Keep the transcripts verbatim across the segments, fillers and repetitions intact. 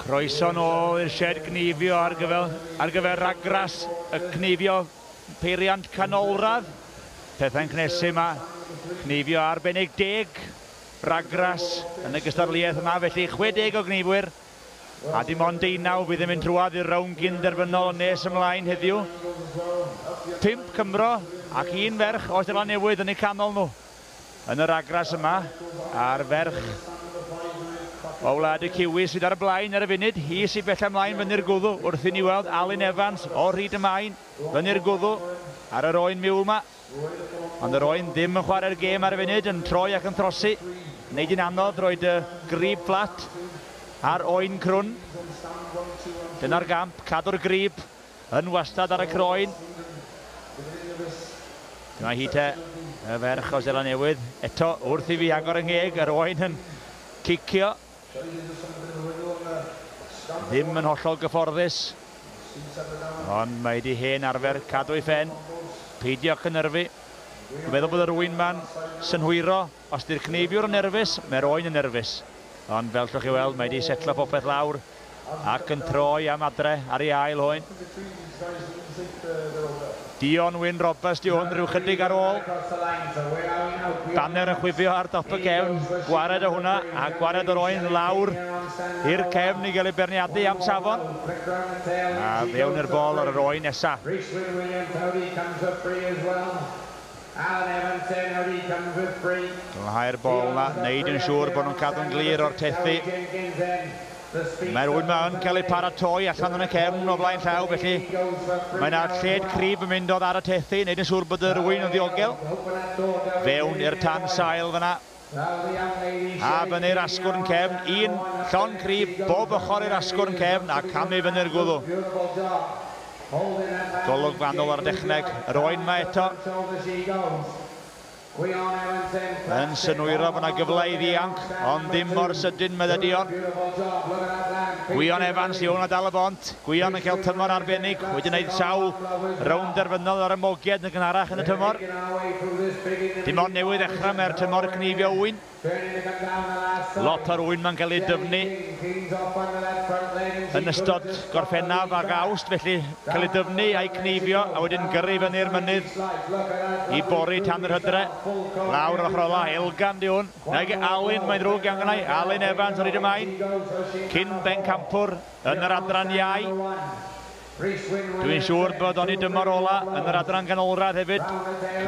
Croeso nôl i'r shed gneifio ar gyfer, ar gyfer ragras y cneifio peiriant canolradd. Pethau'n cnesu yma, cneifio arbennig deg ragras yn y gystadleuaeth yma, felly chwe deg o gneifwyr a dim ond deunaw fydd yn mynd trwadd i'r rownd gynderfynol yn nes ymlaen heddiw. Pump Cymro ac un ferch o Seland Newydd yn eu canol nhw yn y ragras yma, a'r ferch o wlad y Ciwi sydd ar y blaen ar y funud, hi sydd bell ymlaen fyny'r gwddw wrth i ni weld Alun Evans o Rhyd y Main fyny'r gwddw ar yr oen miwl yma. Ond yr oen ddim yn chwarae'r gêm ar y funud, yn troi ac yn trosi. Wneud yn anodd roed y grib fflat ar oen crwn. Dyna'r gamp, cadw'r grib yn wastad ar y croen. Dyma hi te, y ferch o Seland Newydd. Eto, wrth i fi agor yng ngheg, yr oen yn cicio. Ddim yn hollol gyfforddus, ond mae di hen arfer cadw ei phen, peidio cynhyrfu. Dwi'n meddwl bod yr oen ma'n synhwyro, os di'r cneifiwr yn nerfus, mae'r oen yn nerfus. Ond fel llwch chi weld, mae di setlo popeth lawr ac yn troi am adre ar ei ail oen. Dion Wyn Roberts, di hwn rhyw chydig ar ôl. Banner yn chwifio ar dop y cefn, gwared o hwnna a gwared o'r oen lawr i'r cefn i gael ei berniadu am safon. A fewn i'r bol ar yr oen nesa. Glanhau'r bol na, wneud yn siŵr bod nhw'n cadw'n glir o'r tethu. Mae'r oen yma yn cael ei paratoi allan yn y cefn o flaen llaw, felly mae yna lled cryf yn mynd oddi ar y tethu, wneud yn siŵr bod yr oen yn ddiogel. Fewn i'r tan sail fyna. A fyny'r asgwrn cefn, un llon cryf bob ochr i'r asgwrn cefn a camu fyny'r gwddw. Golwg fanwl ar y dechneg, yr oen yma eto. Yn synwyro bod yna gyfle i ddianc, ond ddim mor sydyn, medde Dion. Gwion Evans, i hwn a dal y bont. Gwion yn cael tymor arbennig, wedi gwneud sawl rownd derfynol ar y mogiad yn gynharach yn y tymor. Dim ond newydd ddechrau mae'r tymor cneifio ŵyn. Lot o'r ŵyn ma'n cael ei dyfnu yn ystod Gorffennaf ac Awst, felly cael ei dyfnu a'i cneifio a wedyn gyrru fyny'r mynydd i bori tan yr hydre. Lawr yr ochr ola, Elgan di hwn. Nag Alun, mae'n ddrwg iawn gennau. Alun Evans o Rhyd y Main, cyn bencampwr yn yr adran iau. Dwi'n siŵr bod o'n i dymor ola yn yr adran ganolradd hefyd.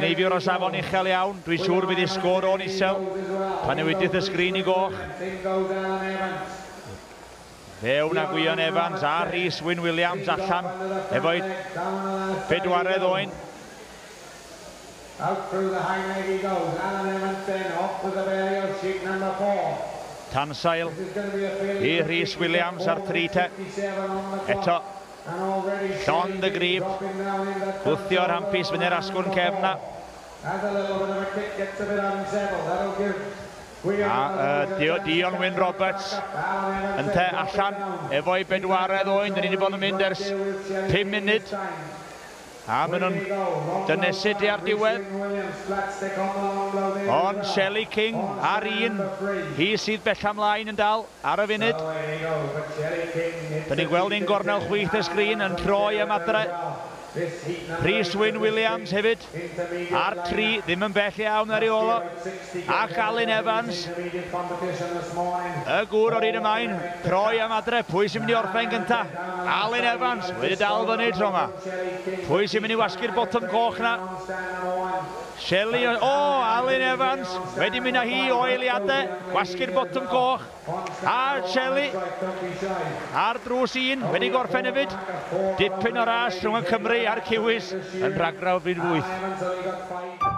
Cneifiwr o safon uchel iawn. Dwi'n siŵr fydd ei sgôr o'n isel pan newidith y sgrin i goch. Fewn a Gwion Evans a Rhys Wyn Williams allan efo'i bedwaredd oen. Out through the high leg he goes. Alan Evans then off with the belly of sheep number four. Tansail i Rhys Williams ar tri te. Eto, llond y grib, gwthio'r hampus fyny'r asgwrn cefn na. A uh, Dion Wyn Roberts yn te allan efo'i bedwaredd oen. Dyn ni wedi bod yn mynd ers pum munud. A maen nhw'n dynesu tua'r diwedd. Ond Shelley King ar un, hi sydd bell ymlaen yn dal ar y funud. Dyn ni'n gweld un gornel chwith y sgrin yn troi am adre. Rhys Wyn Williams hefyd ar tri, ddim yn bell iawn ar ei ôl o. Ac Alun Evans, y gŵr o'r un y maen, troi am adre. Pwy sy'n mynd i orffen gynta? Alun Evans wedi dal fyny tro yma. Pwy sy'n mynd i wasgu'r botwm coch na? Shelley, o, oh, Alun Evans wedi mynd â hi o eiliadau, wasgu'r botwm coch. A Shelley ar drws un, wedi gorffen hefyd. Dipyn o ras rhwng y Cymru a'r Ciwis yn rhagraw bryd wyth.